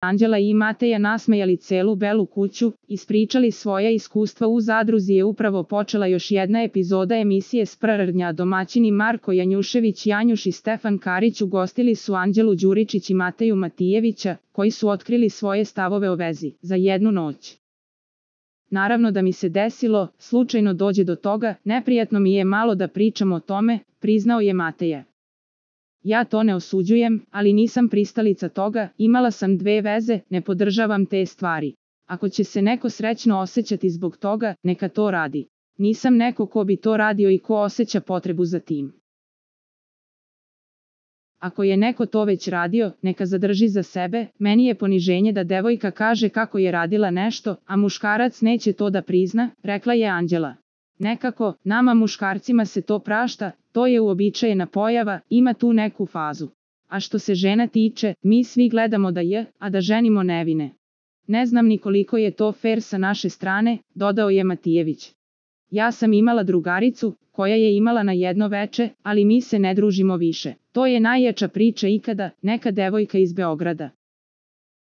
Anđela i Mateja nasmejali celu Belu kuću, ispričali svoja iskustva. U zadruzi je upravo počela još jedna epizoda emisije Sprrrnja. Domaćini Marko Janjušević, Janjuš i Stefan Karić ugostili su Anđelu Đuričić i Mateju Matijevića, koji su otkrili svoje stavove o vezi za jednu noć. Naravno da mi se desilo, slučajno dođe do toga, neprijatno mi je malo da pričam o tome, priznao je Mateja. Ja to ne osuđujem, ali nisam pristalica toga, imala sam 2 veze, ne podržavam te stvari. Ako će se neko srećno osjećati zbog toga, neka to radi. Nisam neko ko bi to radio i ko osjeća potrebu za tim. Ako je neko to već radio, neka zadrži za sebe. Meni je poniženje da devojka kaže kako je radila nešto, a muškarac neće to da prizna, rekla je Anđela. Nekako, nama muškarcima se to prašta, to je uobičajena pojava, ima tu neku fazu. A što se žena tiče, mi svi gledamo a da ženimo nevine. Ne znam ni koliko je to fer sa naše strane, dodao je Matijević. Ja sam imala drugaricu, koja je imala na jedno veče, ali mi se ne družimo više. To je najjača priča ikada, neka devojka iz Beograda.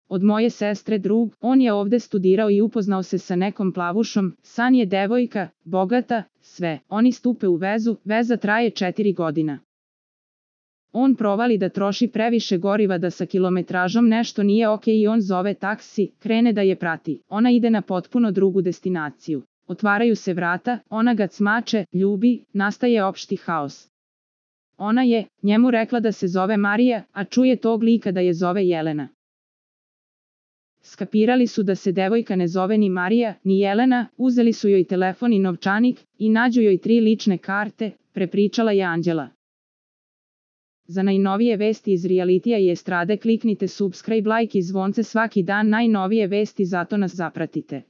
Od moje sestre drug, on je ovde studirao i upoznao se sa nekom plavušom, San je devojka, bogata, sve. Oni stupe u vezu, veza traje 4 godina. On provali da troši previše goriva, da sa kilometražom nešto nije ok i on zove taksi, krene da je prati. Ona ide na potpuno drugu destinaciju. Otvaraju se vrata, ona ga cmače, ljubi, nastaje opšti haos. Ona je njemu rekla da se zove Marija, a čuje tog lika da je zove Jelena. Skapirali su da se devojka ne zove ni Marija, ni Jelena, uzeli su joj telefon i novčanik i nađu joj 3 lične karte, prepričala je Anđela. Za najnovije vesti iz realitija i estrade kliknite subscribe, like i zvonce svaki dan. Najnovije vesti, zato nas zapratite.